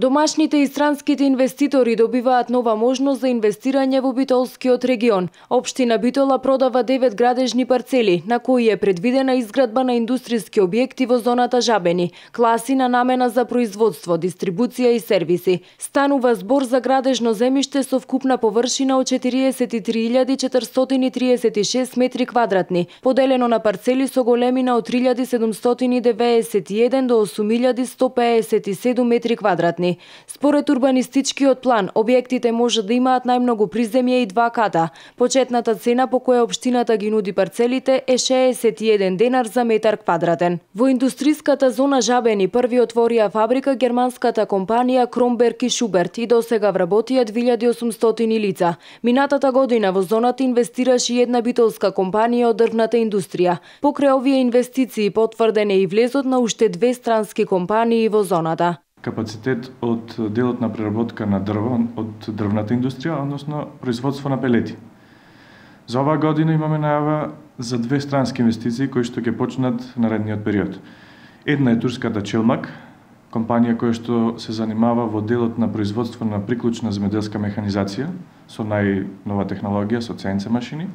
Домашните и странските инвеститори добиваат нова можност за инвестирање во Битолскиот регион. Општина Битола продава 9 градежни парцели, на кои е предвидена изградба на индустријски објекти во зоната Жабени, класи на намена за производство, дистрибуција и сервиси. Станува збор за градежно земјиште со вкупна површина од 43.436 метри квадратни, поделено на парцели со големина од 3.791 до 8.157 метри квадратни. Според урбанистичкиот план, објектите може да имаат најмногу приземје и 2 ката. Почетната цена по која општината ги нуди парцелите е 61 денар за метар квадратен. Во индустријската зона Жабени први отворија фабрика германската компанија Кромберг и Шуберт и досега вработија 2800 лица. Минатата година во зоната инвестираше и една битолска компанија од дрвната индустрија. Покрај овие инвестиции потврден е и влезот на уште 2 странски компании во зоната. Капацитет од делот на преработка на дрво од дрвната индустрија, односно производство на пелети. За оваа година имаме најава за 2 странски инвестиции кои што ќе почнат наредниот период. Една е турската Челмак, компанија која што се занимава во делот на производство на приклучна земјоделска механизација со најнова технологија, со CNC машини,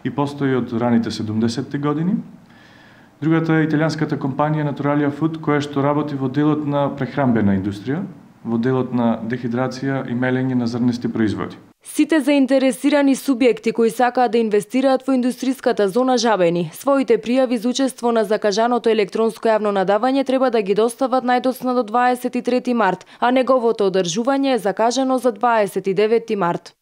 и постои од раните 70-ти години. Другата е италијанската компанија Naturalia Food, која што работи во делот на прехранбена индустрија, во делот на дехидрација и мелење на зрнести производи. Сите заинтересирани субјекти кои сакаат да инвестираат во индустријската зона Жабени, своите пријави за учество на закажаното електронско јавно надавање треба да ги достават најдоцна до 23 март, а неговото одржување е закажано за 29 март.